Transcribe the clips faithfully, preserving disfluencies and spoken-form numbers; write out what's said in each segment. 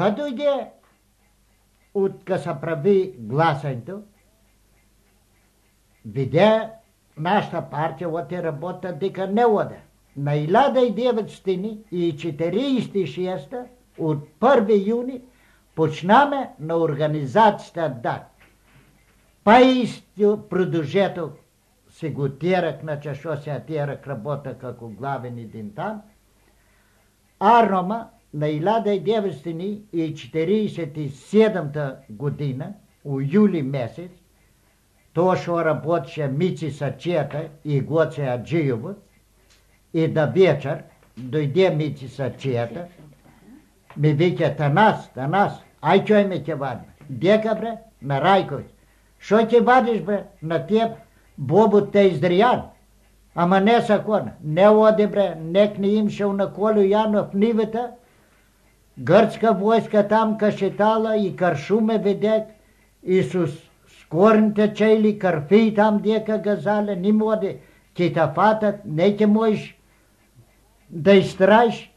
Кад дојде од ка се прави гласањето, виде нашата партија оте работа дека не оде. На илјада деветстотини и четириесет и шеста од први јуни почнаме на организацијата да. Па исто продолжеток се го терак, значи шо се терак работа како главен един там. Арнома на илјада деветстотини и четириесет и седмата година, у јули месец, тоа шо работеше Мици Сачета и Гоце Аджијово, и да вечер дојде Мици Сачета, ми вика Танас, Танас, ај чој ме ќе вадим. Дека бре? На Рајковиќ. Шо ќе вадиш бре? На теб бобот те издријан. Ама не сакона. Не оди бре, нек не имшел на Колю Јанов нивата, грчка војска там кашетала и каршуме ведек, и со скорните чели карфи там дека газале, ни моди, ќе та фатат, не ќе можеш да истраиш,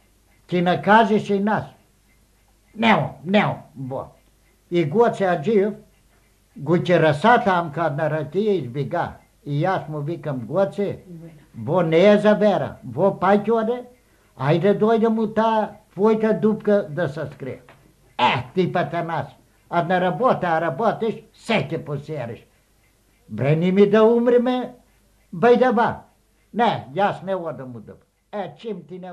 ќе накажеш и нас. Нео, нео, бо. И Гоце Аджиев го ќе раса там кад на ратија избега. И јас му викам, Гоце, во не е за вера, во паќе оде, ајде дојде му таа твојта дупка да се скрие. Е, ти па Танас, а на работа, а работиш, се ќе посериш. Бре, ни ми да умреме, бајдаба. Не, јас не одам у дупка. Е, чим ти не